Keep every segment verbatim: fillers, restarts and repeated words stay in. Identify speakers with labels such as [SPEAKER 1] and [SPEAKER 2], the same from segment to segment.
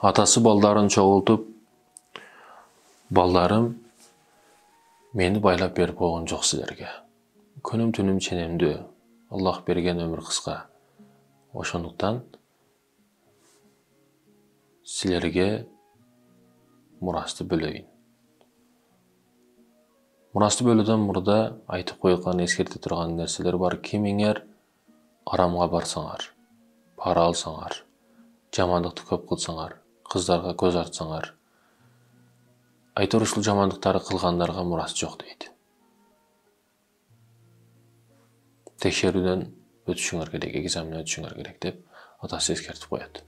[SPEAKER 1] Атасы балдарын чогултуп, балдарым мени байлап берип койгон жок силерге. Күнүм түнүм ченемдүү. Аллах берген өмүр кыска. Ошондуктан силерге мурасты бөлөйүн. Мурасты бөлүүдөн мурда айтып койгон, эскерте турган нерселер бар. Кимиңер арамга барсаңар, пара алсаңар, жамандыкты көп кылсаңар, кыздарга көз ачсаңар, айтор ушул жамандыктарды кылгандарга мурас жок дейт. Текшерүүдөн өтүшүңөр керек, экзаменден өтүшүңөр керек деп атасы эскертип коет.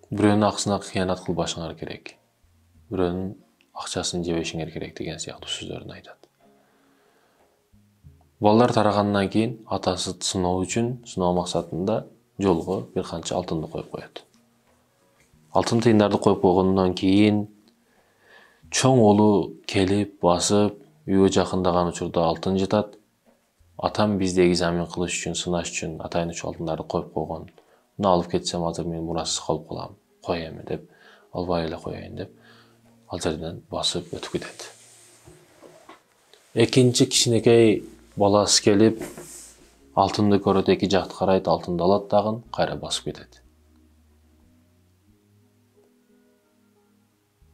[SPEAKER 1] Бирөөнүн акысына кыянат кылбашыңар керек. Бирөөнүн акчасын жебешиңер керек деген сыяктуу сөздөрүн айтат. Балдар тарагандан кийин атасы сыноо үчүн, сыноо максатында жолго бир канча алтынды коюп коет. Алтын тыйындарды коюп койгондон кийин чоң улу келип, басып, үйгө жакындаган учурда алтын жатат. Атам бизди экзамен кылыш үчүн, сынаш үчүн атайын ушул алтындарды коюп койгон. Муну алып кетсем азыр мен мурасыз калып калам. Коем деп, албай эле коеюн деп, ал жерден басып өтүп кетет. Экинчи кичинекей баласы келип, алтынды көрөт, эки жакты карайт, алтынды алат дагы, кайра басып кетет.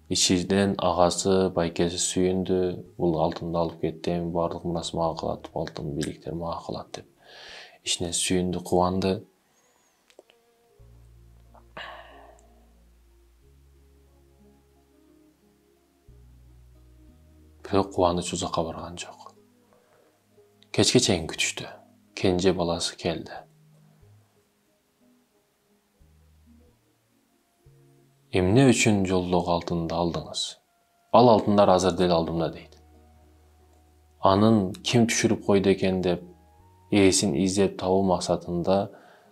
[SPEAKER 1] Ичинен агасы, байкеси сүйүндү, бул алтынды алып кеттим, баардык мурас мага калат, алтын бийликтер мага калат деп. Ичинен сүйүндү, кубанды. Бирок кубаныч узакка барган жок. Кечке чейин күтүштү. Кенже баласы келди. Эмне үчүн жолдогу алтынды алдыңыз? Ал алтындар азыр деле алдымда дейт. Анын ким түшүрүп койду экен деп, ээсин издеп табуу максатында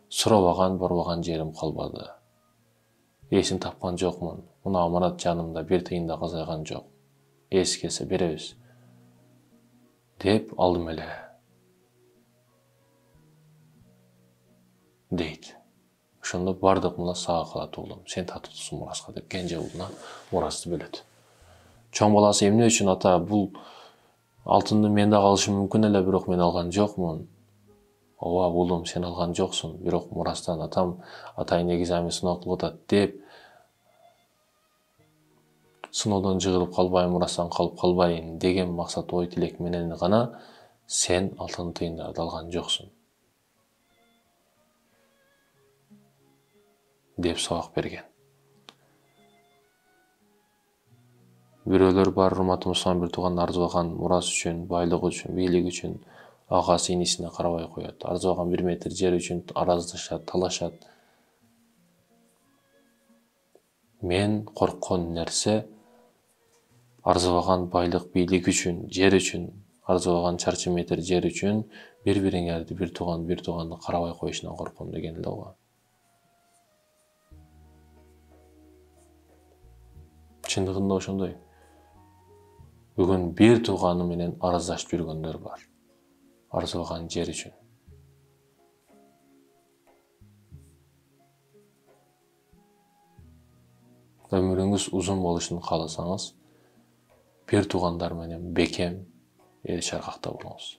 [SPEAKER 1] сурабаган, барбаган жерим калбады. Ээсин тапкан жокмун. Мына аманат жанымда, бир тыйын да казайган жок. Ээси келсе беребиз деп алдым эле дейт. Ошондо бардык мурас сага калат уулум, сен татыктуусуң мураска деп кенже уулуна мурасты бөлөт. Чоң баласы эмне үчүн ата бул алтынды мен да алышым мүмкүн эле, бирок мен алган жокмун. Ооба уулум, сен алган жоксуң, бирок мурастан атам атайын экзамен сыноо кылып атат деп сыноодон жыгылып калбайын, мурастан калып калбайын деген максат, ой тилек менен гана сен алтын тыйындарды алган жоксуң деп сабак берген. Бирөөлөр бар, урматтуу мусулман бир тууган арзыбаган мурас үчүн, байлык үчүн, бийлик үчүн агасы инисине карабай коет. Арзыбаган бир метр жер үчүн араздашат, талашат. Мен корккон нерсе арзыбаган байлык, бийлик үчүн, жер үчүн, арзыбаган чарчы метр жер үчүн бири-бириңерди, бир тууган бир тууганды карабай коюшунан корком деген эле го. Чындыгында ошондой. Бүгүн бир тууганы менен араздашып жүргөндөр бар. Арзыбаган жер үчүн. Өмүрүңүз узун болушун кааласаңыз, бир туугандар менен бекем эл чаркакта болуңуз.